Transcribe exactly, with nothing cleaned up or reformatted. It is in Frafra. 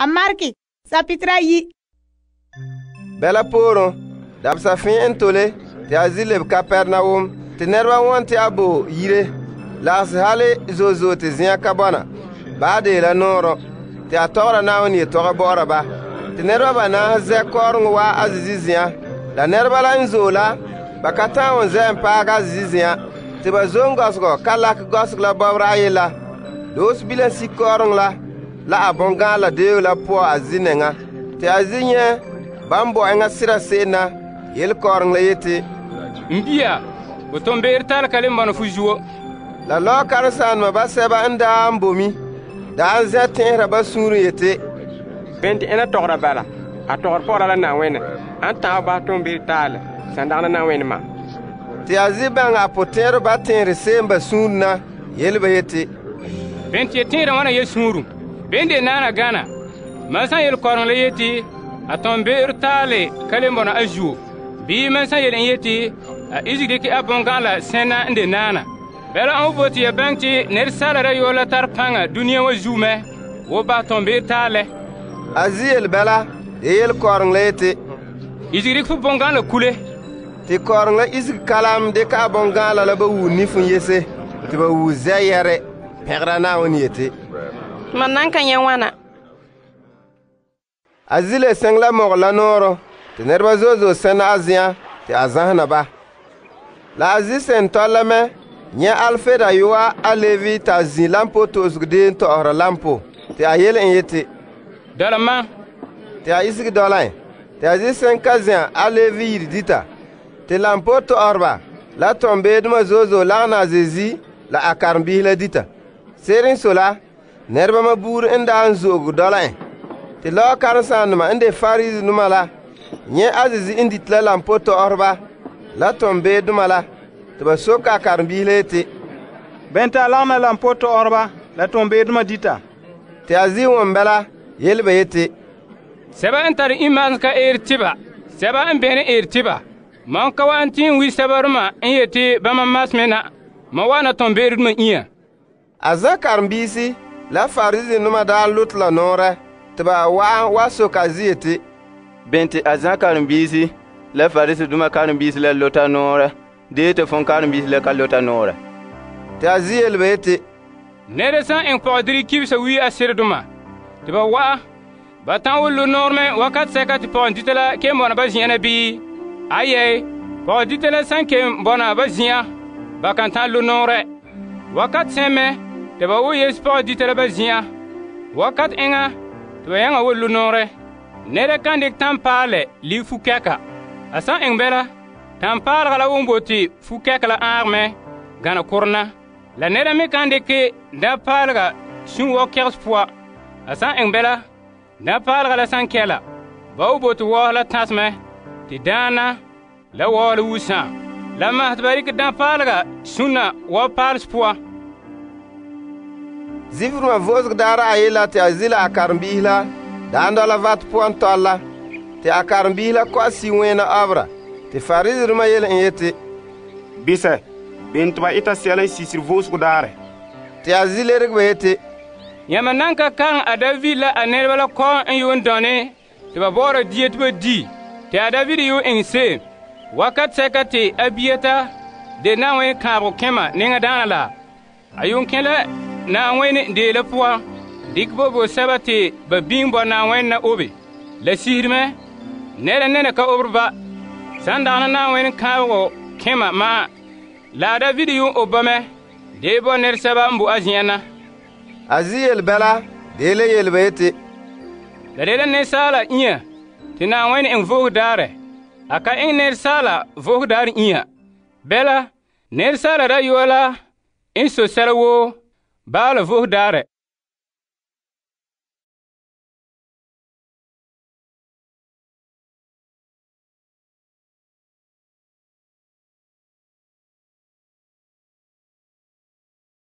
A Mark sapitra yi. Bɛla pooren, dabesa fɛn n tole te a zi lebe Kapernaum te nɛreba won te a bo yire. Lagese hale zo'e zo'e te zen'an ka bɔna. Ba de la nɔɔrɔ te a tɔgɔra Na'ayenɛ yetɔgɔ bɔ'ɔra ba. Te nɛreba banaahe zɛ kɔɔreŋɔ waa a zizi zen'an. La nɛreba la n zo'e la, ba ka ta'an won zɛ n paagɛ a zizi zen'an. Te ba zom gɔsegɔ ka lakɛ gɔsegɔ la bɔbɔra ayi la. Doose bilam si kɔɔreŋɔ la la a bɔn'gaanla deeo la poan a zi nɛŋa. Te a zi nyɛ ban bo eŋa sera se'em na yele kɔɔreŋɔ la yeti, N bia, bo tom be'er tare ka le bɔna fu zuo. La lɔɔ karensaanema basɛba n daa n bomi daa n zɛ tɛn'ɛhera ba suunren yeti, Bene te ena tɔgɔra bala? A tɔgɔre pɔgɔra la Na'ayenɛ. An ta'an bahɛ tom be'er taalɛ san dagana Na'ayenɛ ma. Te a zi baŋɛ a potɛn'ɛrɛ ba tɛn'ɛre se'em ba suunre na yele ba yeti, Bene te tẽera wãna ye sũuru. Bene de naana gana. Mam san yele kɔreŋ la yeti, a tom be'er taale ka le bɔna a zuo. Bii mam san yele n yeti, a isege dikɛ a bɔngã'ala sẽna n de naana. Bɛla an bote ya baŋɛ te nɛresaala rayɔa la tare paŋa dũniyã wa zuo mɛ, wo bahɛ tom be'er taalɛ. A zi yele bɛla, de yele kɔreŋ la yeti, Isege dikɛ fu bɔngã'ala kule. te kɔreŋ la isege kalam dɩka a bɔngãanla la ba wuu nifin yese te ba wuu zɛ yɛrɛ pɛgera Na'ayenɛ yeti, Man nan ka nyɛ wana. A zi le sɛŋ la mɔgɔ la nɔɔrɔ te nɛreba zo'e zo'e sɛna a zen'an te a zãhena ba. La a zi sɛn tɔl la mɛ nyɛ Alfe dayɔa a Levi t'a zi lampo to'osego deen tɔ'ɔhera lampo te a yele en yeti, Dɔla mam. te a isege dɔla en. Te a zi sɛn ka zɛa a Levi yire dita. Te lampo tɔ'ɔreba la tɔmbeedoma zo'e zo'e lagena a Zezi la a karenbiisi la dita. Se'ere n sɔe la, nɛreba ma buuri n daa n zo'oge dɔla en. Te lɔɔ karensaanema n de Farisinoma la nyɛ a Zezi n dite la lampo tɔ'ɔreba la tɔmbeedoma la te ba soke a karenbiisi la yeti, Bɛn te a lagena lampo tɔ'ɔreba la tɔmbeedoma dita? te a zi won bɛla yele ba yeti, Sɛba n tare imaasem ka eer tɩba, sɛba n bẽne eer tɩba. Mam ka wa n tɩ n wi sɛba rema n yeti bãmba masmɛ na, mam wa na tom beere duma inya. A zã karenbiisi la Farisinoma daa lote la nɔɔrɛ te ba wa'an wa soke a zi yeti, Bene te a zã karenbiisi la Farisidoma karenbiisi la lota nɔɔrɛ, dee te fõn karenbiisi la ka lota nɔɔrɛ. te a zi yele ba yeti, Nɛra san eŋ pɔgedire kibsa wi a seredoma, tɩ ba wa'a, ba ta'an wʋ lo noor mɛ wakat sɛka tɩ pɔgɔn dita la kem bɔna ba zĩ'ã na bii? Ayɛɛ, pɔgɔn dita la san kem bɔna ba zĩ'ã, ba kan ta'an lo noorɛ. Wakat sẽn mɛ tɩ ba wʋ yes pɔgɔn dita la ba zĩ'ã. Wakat eŋa tɩ ba yãŋa wʋ lo noorɛ. Nɛra kan dɩk tãn-paalɛ lig fu-kɛka. A san eŋ bɛla, tãn-paalega la wʋn bote fu-kɛka la ãag mɛ gana korena. La nɛra me kan dɩke dã-paalega sũ-wɔ kɛgs pʋa. A san eŋ bɛla, dã-paalega la san kɛla, ba wʋ bote wɔɔs la tãs mɛ, tɩ daana la wɔɔs la wusã. La mas tɩ ba rɩk dã-paalega sũna wa paals pʋa. Zifrema vo'osego daarã ayi la te a zi la a karenbiisi la daan dɔla vat puan tɔl la te a karenbiisi la kɔ'a si-wẽena ɔbra te Farisinoma yele en yeti, Bisɛ, bene te ba ɩta sɛla n sisiri vo'osego daarɛ? te a zi lereg ba yeti, Yãmba nan ka kaŋ a David la a nɛreba la kɔɔ n yuun dɔne tɩ ba bɔɔra dia tɩ ba di, tɩ a David yuun eŋ se'em. Wakat sɛka te a biyeta de Na'ayenɛ kãabego kẽma neŋadaana la, a yuun kẽ la Na'ayenɛ dee la pʋga, dɩk bo bo sɛba tɩ ba biŋ bɔ Na'ayenɛ na obe. La sisirmɛ, nɛra nɛna ka obre ba, san dagana Na'ayenɛ kãabego kẽma maa. La a David yuun ob ba mɛ, dee bɔ nɛresɛba n bo a zen'an na. a zi yele bɛla dee le yele ba yeti, La de la nɛresaala inya tɩ Na'ayenɛ eŋ voog daarɛ. A ka eŋ nɛresaala voog daarɛ inya. Bɛla, nɛresaala rayɔa la n so sɛla woo, baala voog daarɛ.